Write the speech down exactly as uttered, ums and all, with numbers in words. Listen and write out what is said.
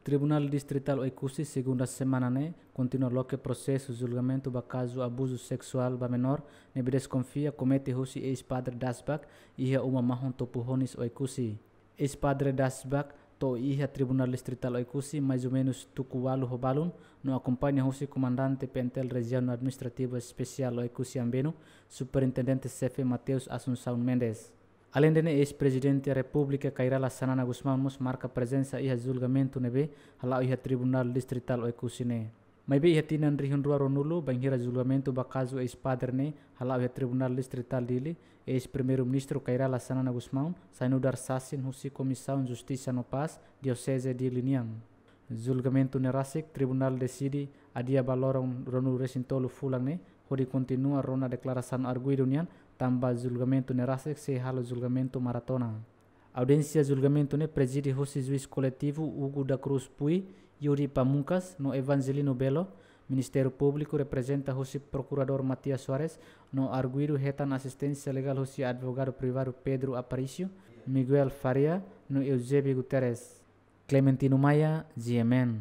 Tribunál Distritál Oekusi, segunda semana ne'e, kontinua loke prosesu julgamentu ba kazu abuzu seksuál ba menór ne'ebé deskonfia komete husi eis-padre Dasbak iha uma mahon Topu Honis, Oekusi. Eis-padre Dasbak to'o iha Tribunál Distritál Oekusi mais ou menus tuku ualu ho balun, no akompaña husi komandante P N T L Rejiaun Administrativa Espesiál Oekusi Ambeno, Superintendente Xefe Mateus Assunção Mendes. Aleinde ne'e, eis-Prezidente Repúblika Kay Rala Xanana Gusmão mós marka prezensa iha julgamentu ne'ebé hala'o iha Tribunál Distritál Oekusi ne'e. Maibé iha tinan rihun rua ruanulu, bainhira julgamentu ba kazu eis-padre ne'e hala'o iha Tribunál Distritál Dili, eis-Primeiru-Ministru Kay Rala Xanana Gusmão sai nu'udar sasin husi Komisaun Justisa no Pás Dioseze Dili nian. Julgamentu ne'e rasik, tribunál deside adia ba loron ruanulu resin tolu fulan ne'e, hodi kontinua rona deklarasaun arguidu nian, tanba julgamentu ne'e rasik sei halo julgamentu maratona. Audiénsia julgamentu ne'e prezide husi juís koletivu Hugo da Cruz Puy, Yuri Pamuncas, no Evangelino Belo. Ministériu Públiku reprezenta husi Prokuradór Matias Soares, no arguidu hetan asisténsia legál husi advogadu privadu Pedro Aparício, Miguel Faria, no Eusébio Guterres. Clementino Maia, G M N.